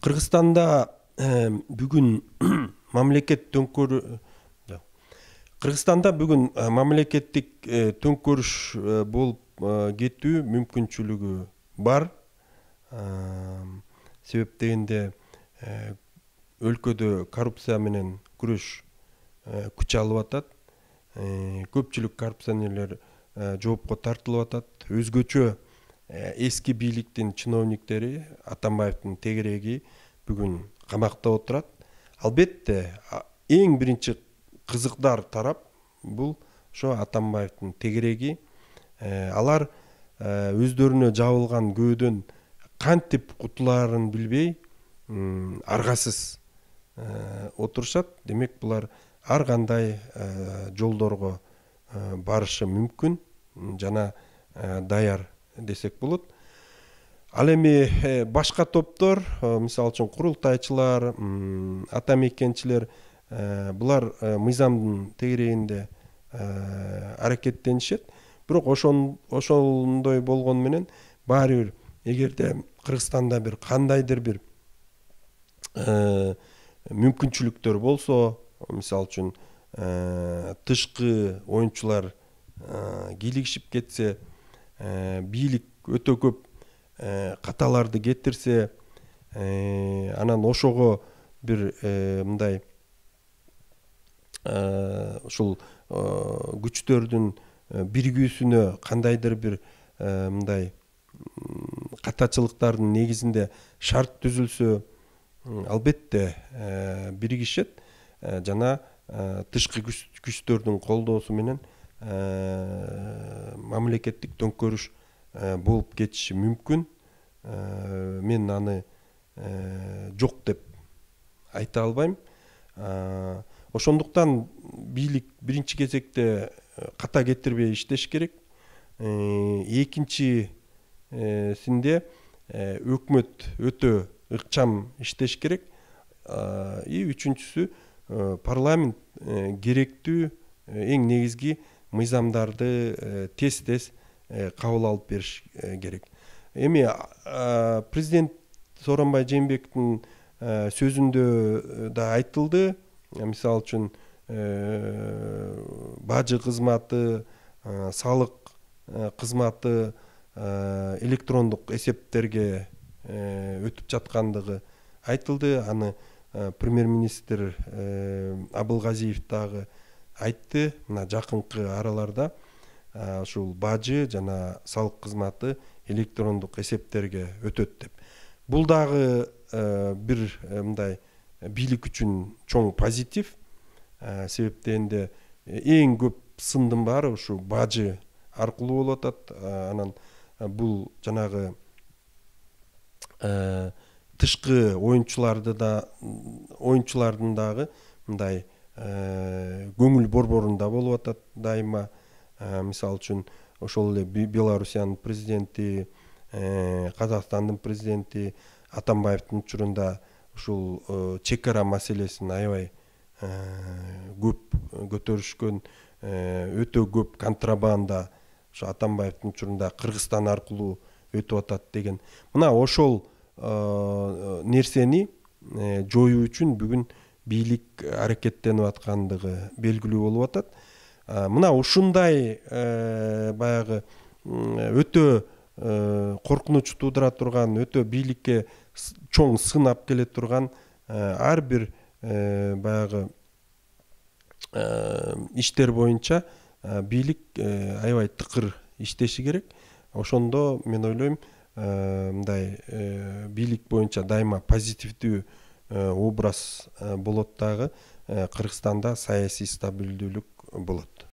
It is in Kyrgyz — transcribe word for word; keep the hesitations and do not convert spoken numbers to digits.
Кыргызстанда бүгүн мамлекет төңкөр Кыргызстанда бүгүн мамлекеттик төңкөрүш болуп кетүү мүмкүнчүлүгү бар. Себеп дегенде өлкөдө коррупция менен күрөш күч алып атат. Көпчүлүк коррупционерлер жоопко тартылып атат. Өзгөчө эски бийликтин чиновниктери, Атамбаевдин тегереги бүгүн камакта отурат. Албетте, эң биринчи кызыктар тарап бул ошо Атамбаевдин тегереги. Алар өздөрүнө жабылган көөдөн кантип кутулаарын билбей, аргасыз отурушат. Демек, булар ар кандай жолдорго барышы мүмкүн жана даяр десек болот. Ал эми башка топтор, мисалы үчүн курултайчылар, ата мекенчилер, булар мыйзамдын тегерегинде аракеттенишет. Бирок ошондой болгону менен баары бир эгерде Кыргызстанда бир кандайдыр бир мүмкүнчүлүктөр болсо, мисалы үчүн тышкы оюнчулар кийлигишип кетсе, бийлик өтө көп каталарды кетирсе, анан ошого бир мындай ушул күчтөрдүн биригүүсүнө кандайдыр бир мындай катачылыктардын негизинде шарт түзүлсө, албетте биригишет жана тышкы күчтөрдүн колдоосу менен мамлекеттик төңкөрүш болуп кетиши мүмкүн. Мен аны жок деп айта албайм. Ошондуктан бийлик биринчи кезекте ката кетирбей иштеш керек. Экинчисинде өкмөт өтө ыкчам иштеш керек. И үчүнчүсү парламент керектүү эң негизги мыйзамдарды тез-тез кабыл алып бериш керек. Эми президент Сооронбай Жээнбековдун сөзүндө да айтылды. Мисалы үчүн бажы кызматы, салык кызматы электрондук эсептерге өтүп жаткандыгы айтылды. Аны премьер-министр Абылгазиев дагы айтты. Мына жакынкы араларда ушул бажы жана салык кызматы электрондук эсептерге өтөт деп. Бул дагы бир мындай бийлик үчүн чоң позитив. Себеп дегенде эң көп сындын баары ушу бажы аркылуу болуп атат. Анан бул жанагы тышкы оюнчуларды да оюнчулардын дагы мындай көңүл борборунда болуп атат дайыма. Мисалы үчүн ошол эле Белоруссиянын президенти, Казакстандын президенти Атамбаевдин учурунда ушул чек ара маселесин аябай көп көтөрүшкөн, өтө көп контрабанда ошо Атамбаевдин учурунда Кыргызстан аркылуу өтүп атат деген. Мына ошол нерсени жоюу үчүн бүгүн бийлик аракеттенип аткандыгы белгилүү болуп атат. Мына ушундай баягы өтө коркунуч туудура турган, өтө бийликке чоң сын алып келе турган ар бир баягы иштер боюнча бийлик аябай тыкыр иштеши керек. Ошондо мен ойлойм, мындай бийлик боюнча дайыма позитивдүү образ болот дагы, Кыргызстанда саясий стабилдүүлүк болот.